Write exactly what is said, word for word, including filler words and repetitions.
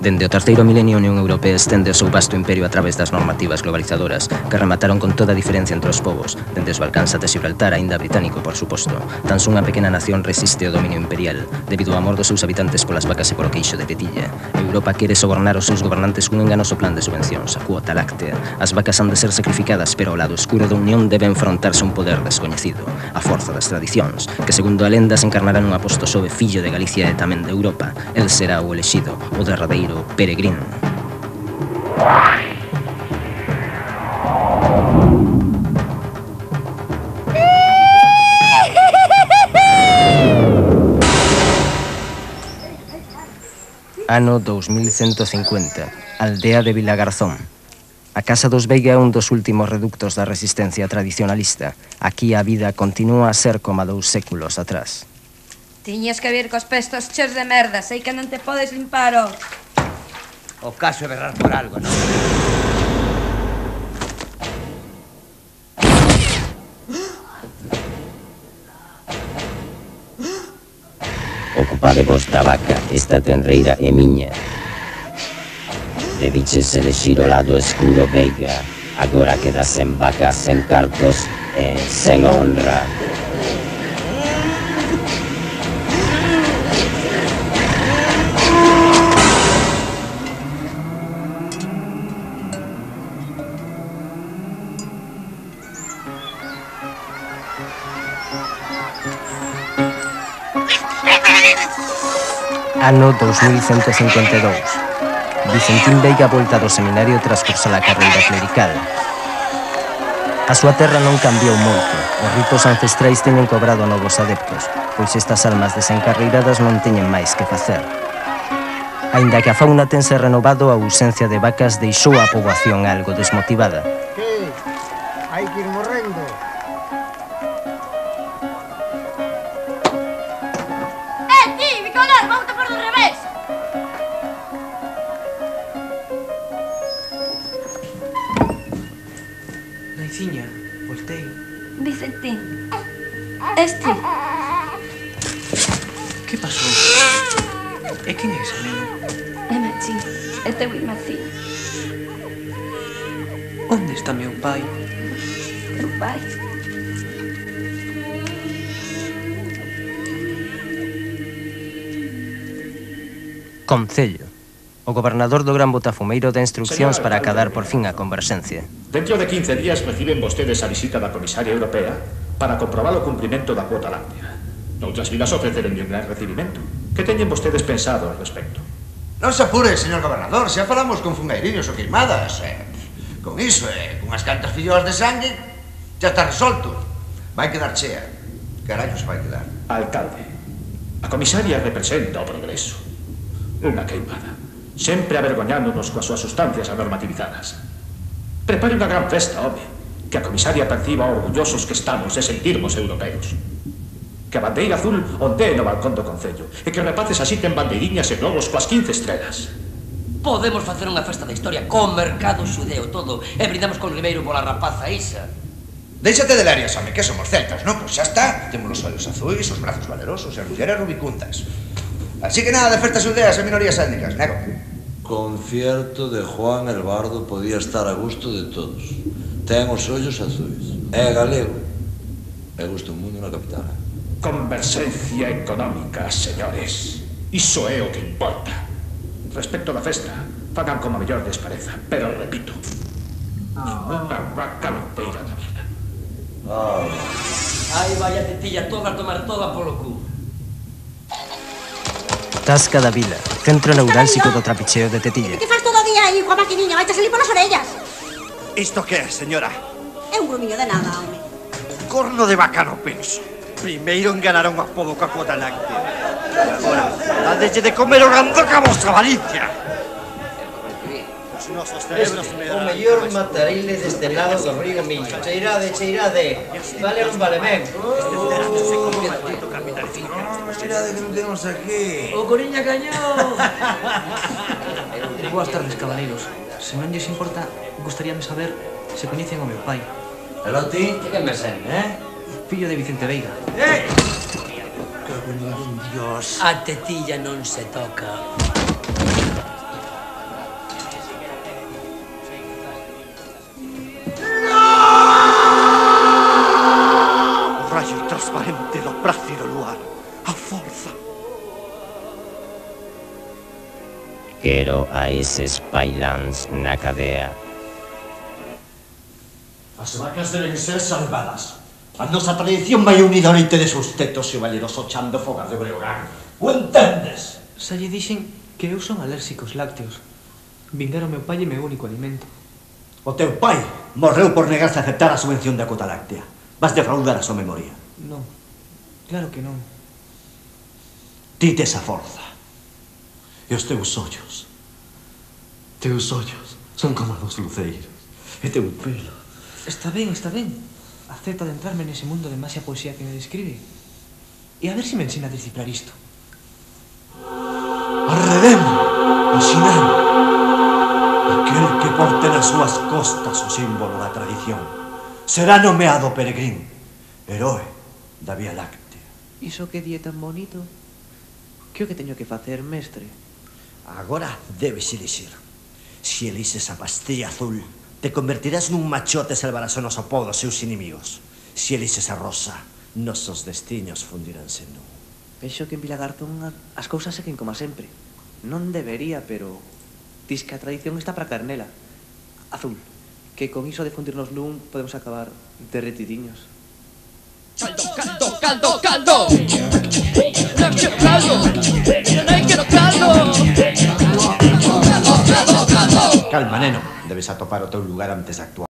Dende o terceiro milenio, a Unión Europea estende o seu vasto imperio a través das normativas globalizadoras que remataron con toda a diferencia entre os povos, dende os Balcáns até Gibraltar, aínda británico, por suposto. Tan só unha pequena nación resiste o dominio imperial, debido ao amor dos seus habitantes polas vacas e polo queixo de tetilla. Europa quere sobornar os seus gobernantes cun enganoso plan de subvencións, a cuota láctea. As vacas han de ser sacrificadas, pero ao lado escuro da Unión debe enfrontarse un poder descoñecido, a forza das tradicións, que segundo a lenda se encarnará nun aposto sobe fillo de Galicia e tamén de Europa. El será o elexido, o derradeiro peregrino. Ano dous mil cento cincuenta, aldea de Vilagarzón. A Casa dos Veiga é un dos últimos reductos da resistencia tradicionalista. Aquí a vida continúa a ser como a dous séculos atrás. Tiñas que vir cos pestos cheos de merda, sei que non te podes limpar, o... O caso é berrar por algo, non? Ocupadevos da vaca, esta tenreira é miña. Debiches elexir o lado escuro, Veiga. Agora quedas sen vacas, sen cartos e sen honra. Ano dous mil cento cincuenta e dous. Vicentín Veiga volta do seminario tras cursar a carreira clerical. A súa terra non cambiou moito. Os ritos ancestrais teñen cobrado novos adeptos, pois estas almas desencarreiradas non teñen máis que facer. Aínda que a fauna tense renovado, a ausencia de vacas deixou a poboación algo desmotivada. Que? Hai que ir morrendo. Naiciña, voltei. Vicentín, este... Que pasou? E quen é ese neno? É Machín, é teu irmacín. Onde está meu pai? Teu pai? Concello. O gobernador do Gran Botafumeiro dá instruccións para acadar por fin a converxencia. Dentro de quince días reciben vostedes a visita da comisaria europea para comprobar o cumprimento da cuota láctea. Noutras vilas ofreceron un gran recibimento. Que teñen vostedes pensado al respecto? Non se apure, señor gobernador, xa falamos con fungairiños o queimadas. Eh, con iso, eh, con as cantas filloas de sangue, xa está resolto. Vai quedar chea. Carallo se vai quedar. Alcalde, a comisaria representa o progreso. Unha queimada, sempre avergoñándonos coas súas sustancias anormativizadas. Prepare unha gran festa, home, que a comisaria perciba orgullosos que estamos de sentirmos europeos. Que a bandeira azul ondee no balcón do Concello e que os rapaces asiten bandeiriñas e globos coas quince estrelas. Podemos facer unha festa da historia con mercado xudeo todo e brindamos con Ribeiro pola rapaza isa. Déixate de larias, home, que somos celtas, non? Pois xa está. Temos os ollos azuis, os brazos valerosos e as mulleres rubicuntas. Así que nada de festas aldeas e minorías étnicas, nego. Concierto de Juan el Bardo podía estar a gusto de todos. Ten os ollos azuis. É galego. E gusta un mundo na capital. Converxencia económica, señores. Iso é o que importa. Respecto da festa, fagan como a mellor les pareza. Pero repito, ninguna vaca loteira da vida. Oh. Ai, vaya tetilla toda a tomar toda polo cu. Tasca da Vila, centro neurálxico do trapicheo de tetilla. Que faz todo o día aí coa maquiniña? Vai te salir polas orellas. Isto que é, señora? É un grumiño de nada, home. Corno de vaca no penso. Primeiro enganaron a podo coa cuota láctea. Agora, dadeche de comer o gandoca a vosa avaricia. Os nosos cerebros me o mellor matarile deste lado do río Miño. Cheirade, cheirade. Vale un vale ben. Cheirade que non temos aquí. O Coriña Cañón. Boas tardes, cabaleiros. Se non lles importa, gustaríame saber se coñecen o meu pai. Pero ti, que me sen, eh? Fillo de Vicente Veiga. Eh! Que buen Dios. A tetilla non se toca. Quero a eses pailáns na cadea. As vacas deben ser salvadas. A nosa tradición vai unida ao leite de seus tetos e o valeroso chan do fogar de Breogán. O entendes? Xa lle dixen que eu son alérxico aos lácteos. Vingar o meu pai é meu único alimento. O teu pai morreu por negarse a aceptar a subvención da cota láctea. Vas defraudar a súa memoria. Non, claro que non. Ti tes a forza. E os teus ollos. Teus ollos son como dos luceiros. E teu pelo. Está ben, está ben. Acepto adentrarme nese mundo de máxia poesía que me describe. E a ver se me ensina a descifrar isto. Arredemo, ensinando. Aquel que porte nas súas costas o símbolo da tradición será nomeado peregrín, heroe da Vía Láctea. Iso que di é tan bonito. Que o que teño que facer, mestre? Agora debes elixir. Se elixes a pastilla azul, te convertirás nun machote e salvarás o noso povo dos seus inimigos. Se elixes a rosa, nosos destinos fundiránse nun. Vexo que en Vilagartón as cousas seguen como sempre. Non debería, pero dis que a tradición está para carnela. Azul, que con iso de fundirnos nun podemos acabar derretidiños. Caldo, caldo, caldo, caldo. No quiero caldo. No quiero caldo. Calma, neno. Debes atopar o teu lugar antes de actuar.